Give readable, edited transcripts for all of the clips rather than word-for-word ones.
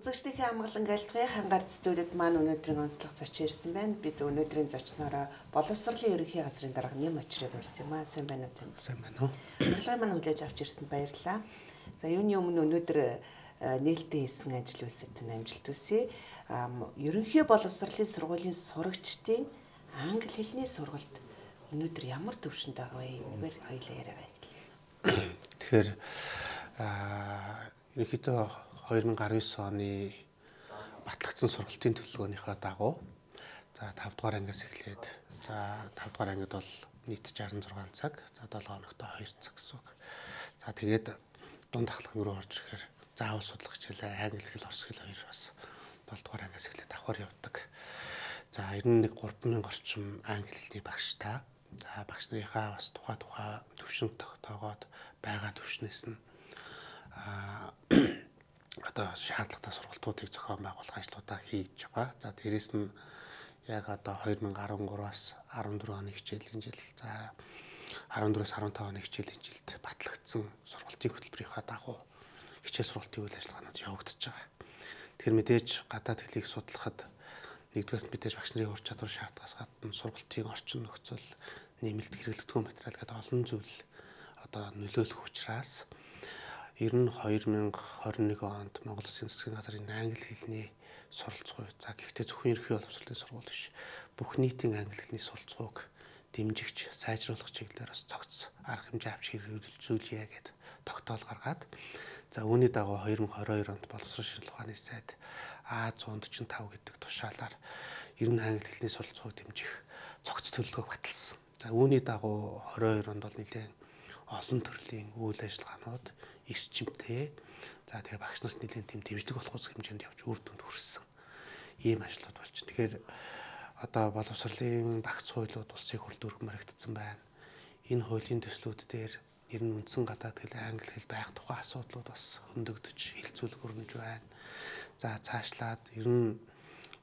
Үзэгчдийнхээ амгалан галдгын хангаар студид маань өнөөдрийн онцлог зочин ирсэн байна. Бид өнөөдрийн зочнороо боловсролын ерөнхий газрын дарга Нэм Очрыг урьсан юм аа. Сайн байна уу тань? Сайн байна уу? Урилгыг маань хүлээж авч ирсэнд баярлалаа. За юуны өмнө өнөөдөр нээлттэй хийсэн ажил үйлсэд амжилт хүсье. Ерөнхий боловсролын сургуулийн сурагчдын англи хэлний сургалт өнөөдөр ямар төвшөнд байгаа вэ? Энийг хоёулаа яриагаа эхэллээ. Тэгэхээр ерөнхийдөө 2019 оны батлагдсан сургалтын төлөвлөгөөнийхөө дагуу за 5 дугаар ангиас эхлээд за 5 дугаар ангид бол нийт 66 цаг, за 7 хоногт 2 цаг гэсэн үг. За тэгээд дунд ахлах руу орж ирэхээр заавал судлах хичээлээр англи хэл, орос хэл хоёр бас 7 дугаар ангиас эхлээд давхар явдаг. За ер нь нэг 3000 орчим англи хэлний багштай. За багш нарынхаа бас тухай төвшин тогтоогоод байгаа төвшнээс нь одоо шаардлагатай сургалтуудыг зохион байгуулах ажлуудаа хийж байгаа. За дээрэс нь яг одоо 2013-аас 14 оны хичээлийн жил, за 14-өөс 15 оны хичээлийн жилд батлагдсан сургалтын хөтөлбөрийнхаа дагуу хичээл сургалтын үйл ажиллагаанууд явагдаж байгаа. Тэгэхээр мэдээж гадаад хэлийг судлахад нэгдүгээр мэдээж багш нарын ур чадвар шаардлагаас гадна сургалтын орчин нөхцөл, нэмэлт хэрэглэгдэхүүн материал гэдэг олон зүйл одоо нөлөөлөх учраас ер нь 2021 онд Монгол Улсын засгийн газрын англи хэлний суралцгуй, за гэхдээ зөвхөн ерөнхий боловсролын сургууль биш, бүх нийтийн англи хэлний суралцгүйг дэмжигч, сайжруулах чиглэлээр бас цогц арга хэмжээ авч хэрэгжүүлье гэд тогтоол гаргаад, за үүний дагуу 2022 онд боловсрол шинжилгээ ухааны сайд А145 гэдэг тушаалаар ер нь англи хэлний суралцгүйг дэмжих цогц төлөвлөгөөг баталсан. За үүний дагуу 22 онд бол нэлээд олон төрлийн үйл ажиллагаанууд эрчимтэй, за тэгээ багш нарт нэлээд тийм дэмжлэг болох ус хэмжээнд явж үр дүнд хүрсэн ийм ажлууд болж байна. Тэгэхээр одоо боловсролын багц хуулиуд улсын хурлд өргөмөрөгдсөн байна. Энэ хуулийн төслүүд дээр ер нь үндсэн гадаад хэл, англи хэл байх тухай асуудлууд бас хөндөгдөж хилцүүлэг өрнөж байна. За цаашлаад ер нь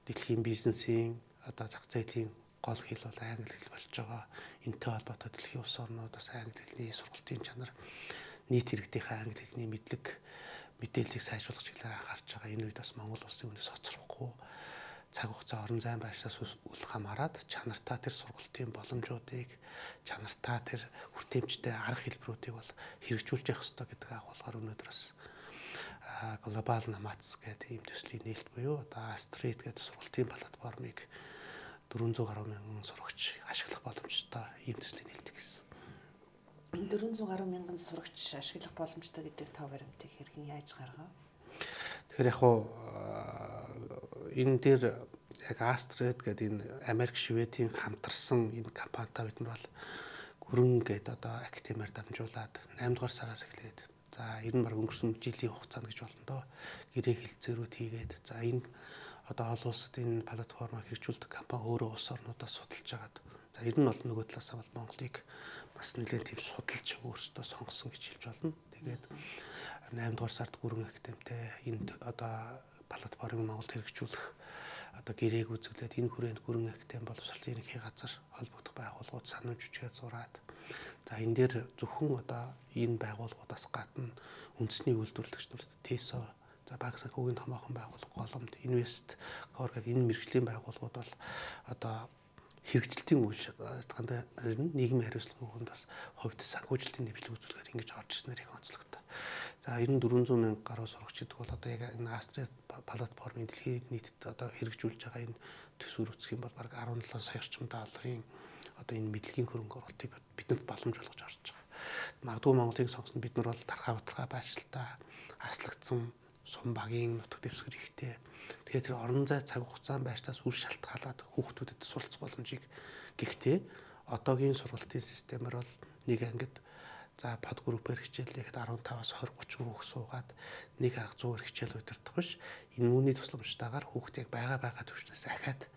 дэлхийн бизнесийн одоо зах зээлийн гол хэл бол англи хэл болж байгаа. Энэтэй холбоотой дэлхийн улс орнууд бас англи хэлний сургалтын чанар, нийт иргэдийнхээ англи хэлний мэдээллийг сайжруулах чиглэлээр анхаарч байгаа. Энэ үед бас Монгол улсын үнээс хоцрохгүй цаг хугацаа орон зайн байршаас үл хамааран чанартай тэр сургалтын боломжуудыг, чанартай тэр хүртээмжтэй арга хэлбэрүүдийг бол хэрэгжүүлж явах хэрэгтэй гэдэг агуулгаар өнөөдөр бас глобал намац гэдэг ийм төслийн нээлт буюу одоо Астрид гэдэг сургалтын платформыг 400 гаруй мянган сурагч ашиглах боломжтой ийм төслийн нээлт гэсэн. Энэ 400 гаруй мянган сурагч ашиглах боломжтой гэдэг тоо баримтыг хэрхэн яаж гаргав? Тэгэхээр яг хуу энэ дээр яг Астрид гэдэг энэ Америк, Шведийн хамтарсан энэ компанитай бид нар бол гүрэн гэдэг одоо академиар дамжуулаад 8 дугаар сараас эхлээд за ер нь баг өнгөрсөн жилийн хугацаанд гэж болно доо гэрээ хэлцээрүүд хийгээд за энэ одоо олон улсад энэ платформыг хэрэгжүүлдэг компани өөрөө улс орнуудаас судалж агаад за ер нь бол нөгөө талаас нь бол Монголыг бас нэлээд тийм судалж өөрсдөө сонгосон гэж хэлж болно. Тэгээд 8 дугаар сард гүрэн академитэй энэ одоо платформыг Монголд хэрэгжүүлэх одоо гэрээг үзүүлээд энэ хүрээнд гүрэн академи боловсролын ерөнхий газар холбогдох байгууллагууд санамж хүчгээ зураад за энэ дээр зөвхөн одоо энэ байгууллагуудаас гадна үндэсний үйлдвэрлэгч нарт ТЭСО, за Банк санхүүгийн томоохон байгууллага, голомт, инвест гоор гэдэг энэ мэргэжлийн байгууллагууд бол одоо хэрэгжилтийн үйл ажиллагаанд нийгмийн хариуцлагын хүнд бас хувьд санхүүжилтийн нэвчлэг үзүүлэхээр ингэж орж ирснээр их онцлогтой. За 400 мянга гаруй сурагч гэдэг бол одоо яг энэ Астрид платформын дэлхийн нийтэд одоо хэрэгжүүлж байгаа энэ төсвөр үүсгэх юм бол бараг 17 сая орчим долларын одоо энэ мэдлэгийн хөрөнгө оруулалтыг бидэнд боломж олгож орж байгаа. Магадгүй Монголыг сонгосон бид нар бол тархаа батархаа байршилтай, аслагдсан сум багийн нутаг дэвсгэр ихтэй. Тэгэхээр тэр орон зай цаг хугацаанд байршаас үл шалтгаалаад хүүхдүүдэд суралцах боломжийг гэхдээ одоогийн сургалтын системээр бол нэг ангид за под группээр хичээллэхэд 15-аас 20-30 хүүхд суугаад нэг арга 100-аар хичээл удирдах биш. Энэ үүний тусламжтайгаар хүүхдийг байгаа төвчнөөс ахаад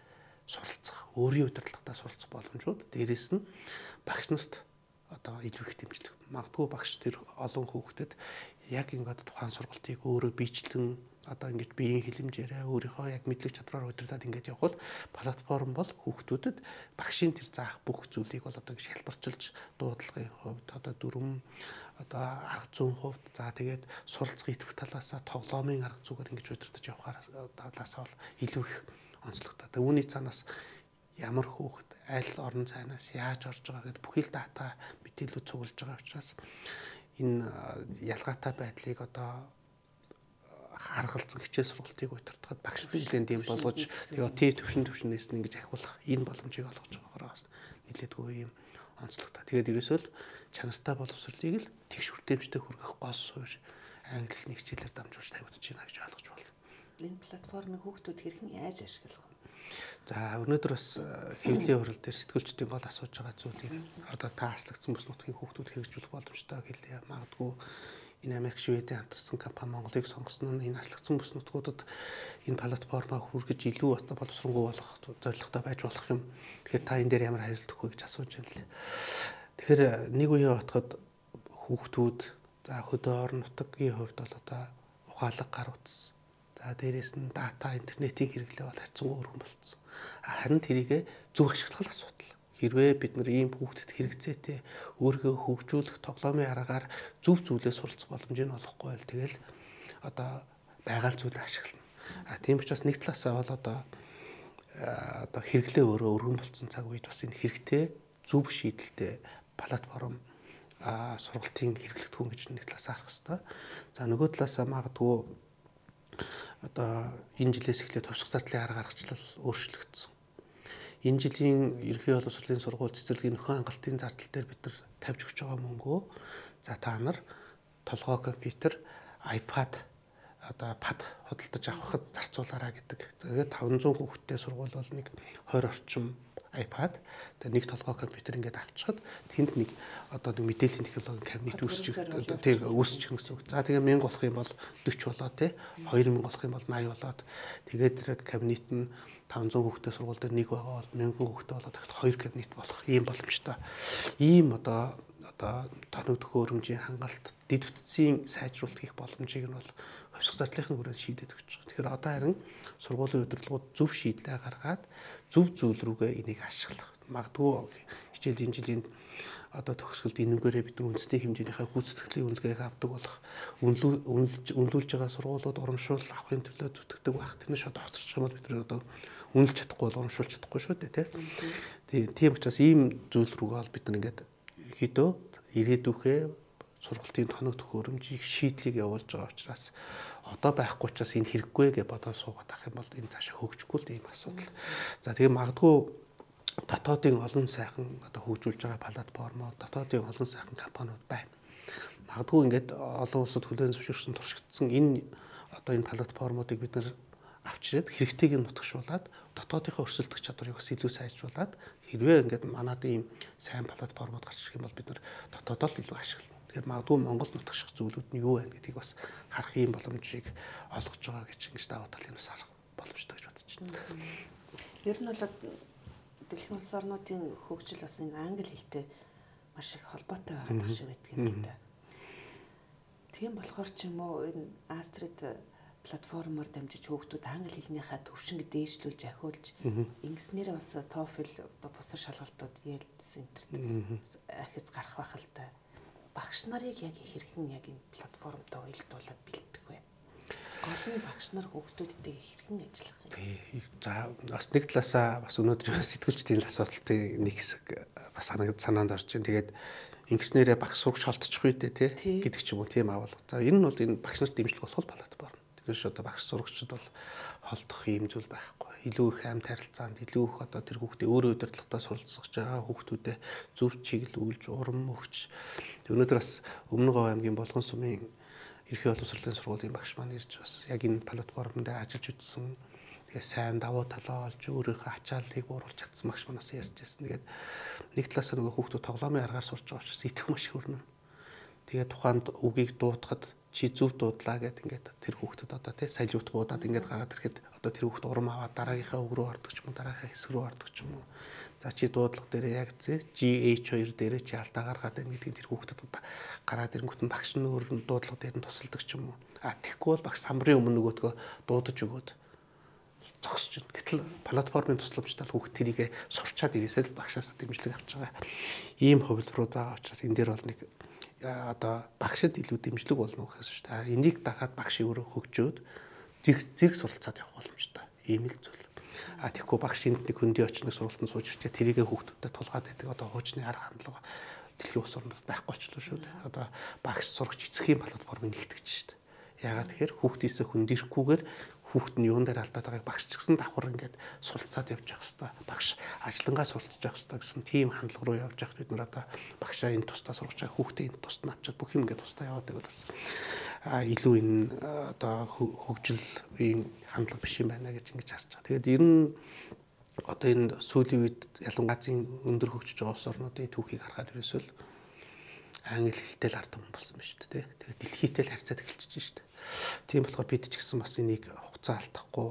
суралцах, өөрийн удирдлагатаа суралцах боломжууд. Дээрээс нь багш нарт одоо илүү их дэмжлэг. Магадгүй багш тэр олон хүүхдэд яг ингээд тухайн сургалтыг өөрөө биечлэн одоо ингэж биеийн хилэмжээрээ өөрийнхөө яг мэдлэг чадвараар удирдах ингэж явбал платформ бол хүүхдүүдэд багшийн тэр заах бүх зүйлийг бол одоо ингэж хэлбэрчилж дуудлагын хувьд одоо дүрм одоо арга зүйн хувьд за тэгээд суралцах идэвх талаас тоглоомын арга зүгээр ингэж удирдах явахаар талаас бол илүү их онцлогтой. Тэгээд үүний цаанаас ямар хүүхэд аль орон зайнаас яаж орж байгаа гэдээ бүхий л дата мэдээлэл цуглаж байгаа учраас энэ ялгаатай байдлыг одоо харгалзан хичээл сургалтыг удирдахад багш нэлээд юм болгож тэгээ төвшнээс нь ингэж ахиулах энэ боломжийг олгож байгаагаар бас нэлээдгүй юм онцлогтой. Тэгээд ерөөсөө л чанартай боловсролыг л тэгш хүртээмжтэй хүргэх гол суурь англи хэлний хичээлээр дамжуулж тавьдаж байна гэж ойлгож байна. Энэ платформыг хүүхдүүд хэрхэн яаж ашиглах вэ? За өнөөдөр бас хэвлэлийн хурал дээр сэтгүүлчдийн гол асууж байгаа зүйл юм. Одоо та хаслагдсан бүс нутгийн хүүхдүүд хэрэгжүүлэх боломжтой хэлээ. Магадгүй энэ Америк Шведийн хамтарсан компани Монголыг сонгосон нь энэ хаслагдсан бүс нутгуудад энэ платформаа хүргэж илүү боловсронгуй болох зорилготой байж болох юм. Тэгэхээр та энэ дээр ямар хариулт өгөх вэ гэж асууж байна лээ. Тэгэхээр нэг үеийн отоход хүүхдүүд за хөдөө орон нутгийн хувьд бол одоо ухаалаг гар утас. За дээрээс нь дата интернетийн хэрэглээ бол харьцангуй өргөн болцсон. Харин тэрийг зөв ашиглах асуудал. Хэрвээ бид нар ийм хүүхдэд хэрэгцээтэй өөрийгөө хөгжүүлэх тоглоомын аргаар зөв зүйлээ суралцах боломжийг олохгүй байл тэгэл одоо байгаль зүйлээ ашиглана. Тийм учраас нэг талаасаа бол одоо хэрэглээ өөрөө өргөн болцсон цаг үед бас энэ хэрэгтэй зөв шийдэлтэй платформ сургалтын хэрэглэгдэхүүн гэж нэг талаасаа харах хэрэгтэй. За нөгөө талаасаа магадгүй одоо энэ жилээс эхлээд товсох зардлын арга гаргачлал өөрчлөгдсөн. Энэ жилийн ерөнхий боловсролын сургууль цэцэрлэгийн нөхөн хангалтын зардал дээр бид нар тавьж өгч байгаа мөнгөө за та нар толгой компьютер, iPad одоо пад худалдаж авахд зарцуулаарай гэдэг. Тэгээд 500 хүүхэдтэй сургууль бол нэг 20 орчим iPad тэгээд нэг толгой компьютер ингээд авчихад тэнд нэг одоо нэг мэдээллийн технологийн кабинет үүсчих тийм үүсчих гэсэн үг. За тэгээ 1000 болох юм бол 40 болоо тий 2000 болох юм бол 80 болоод тэгээд тэр кабинет нь 500 хүүхэдтэй сургууль дээр нэг байгаа бол 1000 хүүхэдтэй болоод дахид 2 кабинет болох ийм боломжтой. Ийм одоо тоног төхөөрөмжийн хангалт дэд бүтцийн сайжруулалт хийх боломжийг нь бол хувьсах зардлынхны хүрээнд шийдэж өгч байгаа. Тэгэхээр одоо харин сургуулийн удирдлагууд зөв шийдлээ гаргаад зөв зүйл рүүгээ энийг ашиглах. Магадгүй хичээлийн жилийн одоо төгсгөлд энэгээрээ бид нар үндэсний хэмжээнийхээ гүйцэтгэлийн үнэлгээг авдаг болох үнэлүүлж байгаа сургуулиуд урамшуул авахын төлөө зүтгэдэг байх. Тэрнээс шууд хоцорчих юм бол бид нар одоо үнэлж чадахгүй бол урамшуулж чадахгүй шүү дээ тийм учраас ийм зүйл рүүгээ бол бид нар ингээд ерөөдөө ирээдүйхээ сургалтын тоног төхөөрөмжийг шийдлийг явуулж байгаа учраас одоо байхгүй учраас энэ хэрэггүй гэж бодоод суугаад ах юм бол энэ цаашаа хөгжихгүй л ийм асуудал. За тэгээ магадгүй дотоодын олон сайхан одоо хөгжүүлж байгаа платформууд, дотоодын олон сайхан компаниуд байна. Магадгүй ингээд олон улсад хүлээн зөвшөөрсөн туршигдсан энэ одоо энэ платформуудыг бид нар авчирээд хэрэгтэйг нь нутагшуулаад дотоодынхоо өрсөлдөх чадварыг бас илүү сайжруулад хэрвээ ингээд манад ийм сайн платформуд гарч ирэх юм бол бид нар дотоодоо л илүү ашиглана. Тэгэхээр магадгүй Монгол нутагших зүйлүүд нь юу вэ гэдгийг бас харах ийм боломжийг олгож байгаа гэж ингэж даваа талын бас харах боломжтой гэж бодож байна. Ер нь бол дэлхийн улс орнуудын хөгжил бас энэ англи хэлтэй маш их холбоотой байгаа шиг байдаг юм да. Тийм болохоор ч юм уу энэ Астрид платформоор дамжиж хүүхдүүд англи хэлнийхээ төвшинг дээшлүүлж ахиулж ингэснээр бас TOEFL одоо бусар шалгалтууд IELTS энтерт ахиц гарах байх л та. Багш нарыг яг хэрхэн яг энэ платформтой уялдуулаад бэлдэх вэ? Гол нь багш нар хүүхдүүдтэй хэрхэн ажиллах юм? За бас нэг талаасаа бас өнөөдөр сэтгүүлчдийн асуудалтын нэг хэсэг бас санаанд орж байна. Тэгээд ингэснээрээ багш сурагч холдчих үү дээ тий гэдэг ч юм уу тийм авал. За энэ нь бол энэ багш нарт дэмжлэг болох платформ. Тэгэхээр одоо багш сурагчид бол холдох юм зүйл байхгүй. Илүү их амьд харилцаанд илүү их одоо тэр хүүхдээ өөрөө удирдлагатаа суралцж байгаа хүүхдүүдэд зөв чиглүүлж урам өгч. Өнөөдөр бас Өмнө Говь аймгийн Болгон сумын ерхий боловсролын сургуулийн багш маань ирж бас яг энэ платформ дээр ажиллаж үзсэн. Тэгээ сайн давуу талаа олж өөрийнхөө ачааллыг бууруулж чадсан багш манаас ярьж байсан. Тэгээд нэг талаас нөгөө хүүхдүүд тоглоомын аргаар сурч байгаа учраас итгэх маш хөрнө. Тэгээд тухайд үгийг дуудахад чи зөв дуудлаа гэд ингээд тэр хүүхдэд одоо тий салют буудаад ингээд гараад ирэхэд одоо тэр хүүхд урам аваад дараагийнхаа үг рүү ордог ч юм уу дараагийнхаа хэсэг рүү ордог ч юм уу. За чи дуудлага дээрээ яг GH2 дээрээ чи алдаа гаргаад байна гэдгийг тэр хүүхдэд гараад ирэнгүүт нь багш нь өөр дуудлага дээр нь тусалдаг ч юм уу. Тэгэхгүй бол багш самбарын өмнө нөгөөдгөө дуудаж өгөөд зогсож байна. Гэтэл платформын тусламжтай хүүхд тэрийг сурчаад ирээсэл багшаас дэмжлэг авч байгаа. Ийм хувилбарууд байгаа учраас энэ дээр бол нэг одоо багшид илүү дэмжлэг болно гэхээс шүү дээ. Энийг дагаад багш өөрөө хөгжөөд зэрэг суралцаад явах боломжтой. Ийм л зүйл. Тэгэхгүй багш энд нэг хөндөй очныг сургалтанд сууж ирчээ тэрийгэ хүүхдүүдэд тулгаад байдаг. Одоо хуучны арга хандлага дэлхийн улс орнууд байхгүй болчихлоо шүү дээ. Одоо багш сурагч эцгийн платформыг нэгтгэж шүү дээ. Яагаад тэгэхээр хүүхдээсээ хөндөөрөхгүйгээр хүүхд нь юун дээр алдаад байгааг багш ч гэсэн давхар ингээд суралцаад явж явах хэрэгтэй. Багш ажиллангаа суралцж явах хэрэгтэй гэсэн тийм хандлага руу явж явах бид нар одоо багшаа энэ тусдаа сургаж байгаа хүүхдээ энэ тусд нь авчаад бүх юм ингээд тусдаа яваад байвал бас илүү энэ одоо хөгжилийн хандлага биш юм байна гэж ингэж харж байгаа. Тэгээд ер нь одоо энэ сүүлийн үед ялангуяа өндөр хөгжиж байгаа улс орнуудын түүхийг харахад ерөөсөө англи хэлтэй л ард түмэн болсон байна шүү дээ. Тэгээд дэлхийтэй л харьцаад эхэлчихэж шүү дээ. Тийм болохоор бид ч гэсэн бас энийг хугацаа алдахгүй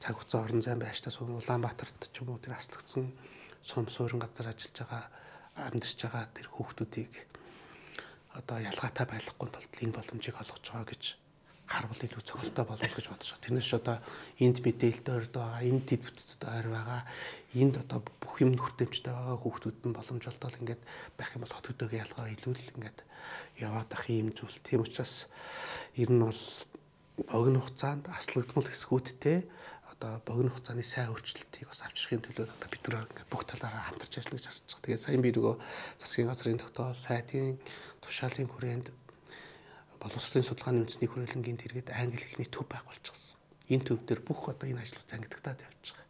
цаг хугацаа орон зайн байштай сум Улаанбаатарт ч юм уу тэр аслагдсан сум суурин газар ажиллаж байгаа амьдарч байгаа тэр хүүхдүүдийг одоо ялгаатай байхгүй тулд энэ боломжийг олгож байгаа гэж харвал илүү цогцолтой болов гэж бодож байгаа. Тэрнээс одоо энд мэдээлэлтэй ойр байгаа, энд дэд бүтцтэй ойр байгаа, энд одоо бүх юм хүртээмжтэй байгаа хүүхдүүд нь боломж олдол ингээд байх юм бол хот хөдөөгийн ялгаа илүү л ингээд яваад ах юм зүйл. Тийм учраас ер нь бол богино хугацаанд аслагдмал хэсгүүдтэй одоо богино хугацааны сайн өөрчлөлтийг бас авчрахын төлөө одоо бид нар ингээд бүх талаараа хамтарч ажиллаж харж байгаа. Тэгээд сая би нөгөө засгийн газрын тогтоол, сайдын тушаалын хүрээнд боловсролын судалгааны үндэсний хүрээлэнгийн тэргээд англи хэлний төв байгуулчихсан. Энэ төв дээр бүх одоо энэ ажлууд зангидагдаад явж байгаа.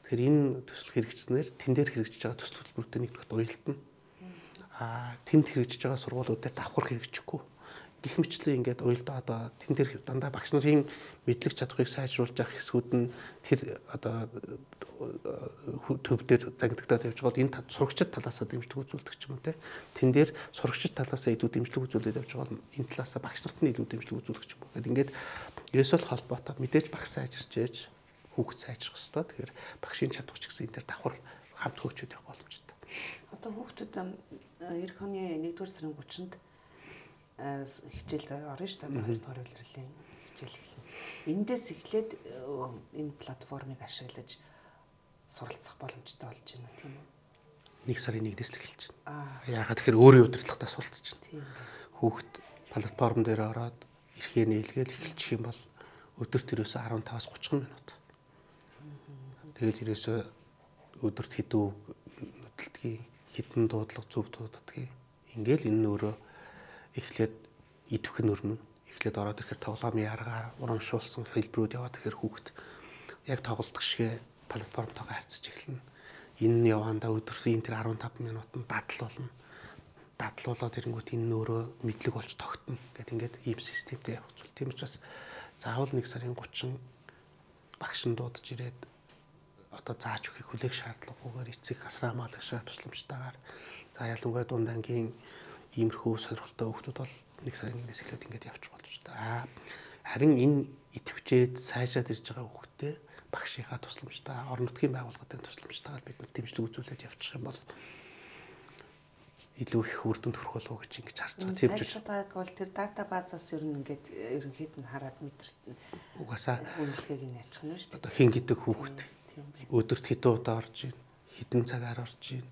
Тэгэхээр энэ төсөл хэрэгжснээр тэн дээр хэрэгжиж байгаа төсөл хөтөлбөртэй нэгдүгээр уялдана. Тэнд хэрэгжиж байгаа сургуулиуд дээр давхар хэрэгжихгүй. Гэх мэтлээ ингээд уялдаа одоо тэн дээр дандаа багш нарын мэдлэг чадварыг сайжруулж явах хэсгүүд нь тэр одоо төв дээр зангидагдаад явж байгаа бол энэ сурагчид талаасаа дэмжлэг үзүүлдэг ч юм уу те. Тэн дээр сурагчид талаасаа илүү дэмжлэг үзүүлээд явж байгаа бол энэ талаасаа багш нарт нь илүү дэмжлэг үзүүлдэг ч юм уу. Ингээд ерөөсөө холбоотой мэдээж багш сайжирч ээж хүүхд сайжрах хэрэгтэй. Тэгэхээр багшийн чадвар ч гэсэн энэ төр давхар хамт хөгжөөд явах боломжтой. Одоо хүүхдүүд эх оны 1-р сарын 30-нд хичээл орно шүү дээ. 2 дугаар улирлын хичээл эхэлнэ. Эндээс эхлээд энэ платформыг ашиглаж суралцах боломжтой болж байна тийм үү? 1 сарын 1-ээс л эхэлж байна. Яагаад тэгэхээр өөрийн удирдлагатаа суралцж байна. Хүүхд платформ дээр ороод эрхээ нээлгээл эхэлчих юм бол өдөрт ерөөсөө 15-аас 30 минут. Тэгээд ерөөсөө өдөрт хэдэн үг нөтөлдгийг, хэдэн дуудлага зөв дууддгийг. Ингээл энэ өөрөө эхлээд идэвх нь өрнө. Эхлээд ороод ирэхээр тоглоомын аргаар урамшуулсан хэлбэрүүд яваад ирэхээр хүүхд яг тоглолт гişгэ платформтойгоо харьцаж эхэлнэ. Энэ нь явандаа өдөртөө тэр 15 минутанд дадал болно. Дадлуулаад ирэнгүүт энэ нь өөрөө мэдлэг болж тогтно. Гэт ингээд ийм системтэй явах зүйл. Тийм учраас заавал 1 сарын 30 багш нь дуудаж ирээд одоо зааж өгөхийг хүлээх шаардлагагүйгээр эцэг асраа хамгаалагчаа тусламжтайгаар за ялангуяа дунд ангийн иймэрхүү сонирхолтой хүүхдүүд бол 1 сарын 1-ээс эхлээд ингээд явчих боломжтой. Харин энэ идэвхжээд сайжраад ирж байгаа хүүхдээ багшийнхаа тусламжтай, орон нутгийн байгууллагын тусламжтайгаар бид нар дэмжлэг үзүүлээд явчих юм бол илүү их үр дүнд хүрэх болов уу гэж ингэж харж байгаа. Тийм ч сайжраад бол тэр дата базаас ер нь ингээд ерөнхийд нь хараад мэдэрч угаасаа үнэлгээг нь ялчих нь шүү дээ. Одоо хин гэдэг хүүхд өдөрт хэдэн удаа орж ийн, хэдэн цагаар орж ийн,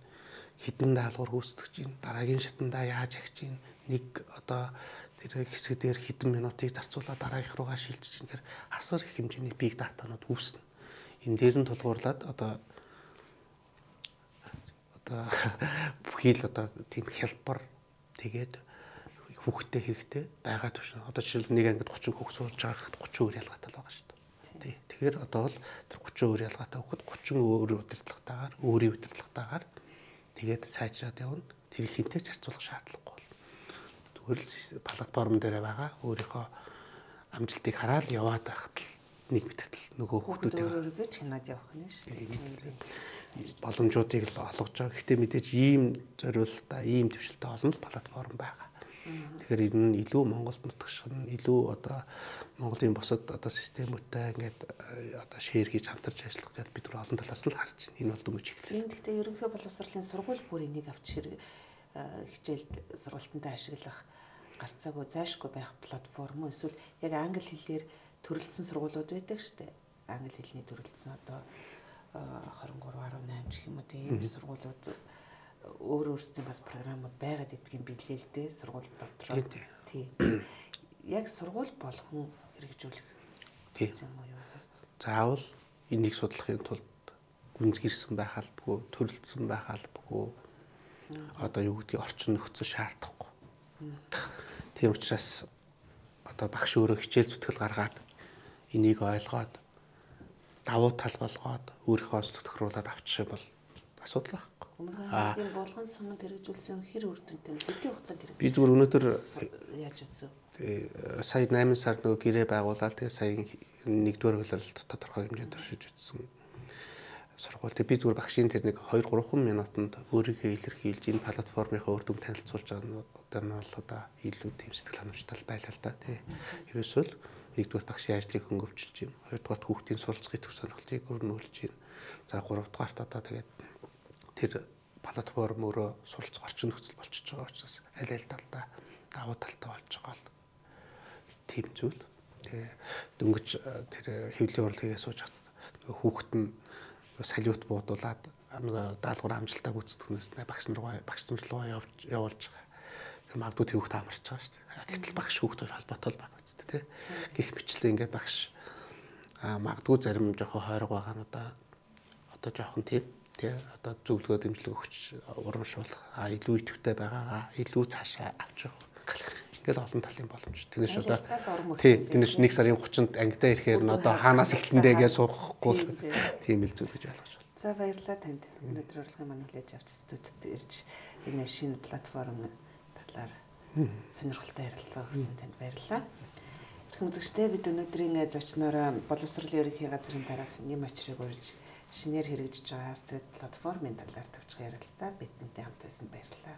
хэдэн даалгавар гүйцэтгэж ийн, дараагийн шатандаа яаж агч ийн, нэг одоо тэр хэсгээр хэдэн минутыг зарцуулаад дараагийнх руугаа шилжиж ийн гэхээр асар их хэмжээний биг датанууд үүснэ. Энэ дээр нь тулгуурлаад одоо бүхий л одоо тийм хялбар тэгээд хүүхдтэй хэрэгтэй байгаа төвшин. Одоо жишээл нэг ангид 30 хүүхд сууж байгаа 30 өөр ялгаатай л байгаа шүү дээ. Тий. Тэгэхээр одоо бол тэр 30 өөр ялгаатай хүүхд 30 өөр удирдлагатаагаар, өөрийн удирдлагатаагаар тэгээд сайжраад явна. Тэр хинтэй ч харьцуулах шаардлагагүй болно. Зүгээр л платформ дээр байгаа өөрийнхөө амжилтыг хараад яваад байхад л нэг битгэл нөгөө хүүхдүүдээ өөрөөгөө чанаад явах нь шүү дээ. Боломжуудыг л олгож байгаа. Гэхдээ мэдээж ийм зориулалтаа, ийм төвшөлтэй олон л платформ байгаа. Тэгэхээр энэ нь илүү Монголд нутагшин, илүү одоо Монголын бусад одоо системүүдтэй ингээд одоо шеэр хийж хамтарч ажиллах гэдэг бид нар олон талаас нь харж байна. Энэ бол дөнгөж эхэллээ. Энэ гэхдээ ерөнхий боловсролын сургууль бүр энийг авч хичээлд сургалтанд ашиглах гарцаагүй зайшгүй байх платформ уу эсвэл яг англи хэлээр төрөлдсөн сургуулиуд байдаг шүү дээ. Англи хэлний төрөлдсөн одоо 23.18 гэх юм уу тийм сургуулиуд өөр өөрсдийн бас програмууд байгаад идэх юм билээ л дээ сургууль дотроо. Тийм. Яг сургууль болгон хэрэгжүүлэх юм уу юу? Заавал энийг судлахын тулд гүнзгийрсэн байх албагүй, төрөлдсөн байх албагүй. Одоо юу гэдгийг орчин нөхцөл шаардахгүй. Тийм учраас одоо багш өөрөө хичээл зүтгэл гаргаад энийг ойлгоод давуу тал болгоод өөрийнхөө зүтгхруулаад авчих юм бол асуудал байхгүй. Энэ болгон суманд хэрэгжүүлсэн хэр үр дүнтэй хэдийн хугацаанд хэрэгжүүлсэн? Би зүгээр өнөөдөр яаж үзв? Сая 8 сард нөгөө гэрээ байгуулаад тэгээ сая 1-р хөлөөлөлт тодорхой хэмжээнд туршиж үзсэн сургууль. Тэгээ би зүгээр багшийн тэр нэг 2-3 минутанд өөрийгөө илэрхийлж энэ платформынхаа үр дүн танилцуулж байгаа нь бол одоо илүү тийм сэтгэл ханамжтай байлаа л да тий. Ерөөсөө л 1-р багшийн ажлыг хөнгөвчлж юм. 2-р хүүхдийн суралцахын төв сонирхлыг өрнүүлж юм. За 3-р одоо тэгээд тэр платформ өөрөө суралцах орчин нөхцөл болчихж байгаа учраас аль аль талдаа давуу талтай болж байгаа л тийм зүйл. Тэгээ дөнгөж тэр хэвлэлийн урлагийг сууж хат хүүхэд нь салют буудуулаад нөгөө даалгавар амжилтаа гүйцэтгэнээс багш нар руу явуулж байгаа. Тэр магадгүй тэр хүүхэд амарч байгаа шүү дээ. Гэтэл багш хүүхэд хоёр холбоотой л байгаа үстэй тий. Гэх мэтлээ ингээд багш магадгүй зарим жоохон хойрог байгаа нь одоо жоохон тийм тий одоо зөвлөгөө дэмжлэг өгч урамшуулах илүү идэвхтэй байгаагаа илүү цаашаа авч явах. Ингээл олон талын боломж. Тэрнээс одоо тий тэрнээс 1 сарын 30-нд ангидаа ирэхээр нь одоо хаанаас эхлэндээ гэж суухгүй тийм л зүйл гэж ойлгож байна. За баярлалаа танд. Өнөөдөр урлагийн манай хүлээж авч студид ирж энэ шинэ платформ талаар сонирхолтой ярилцлага өгсөн танд баярлалаа. Ирэх үзэгчдээ бид өнөөдрийн зочноор боловсролын ерөнхий газрын дараах Нэм Очрыг урьж шинээр хэрэгжиж байгаа Астрид платформын талаар товчхон ярилцлаа. Бидэнтэй хамт байсан баярлалаа.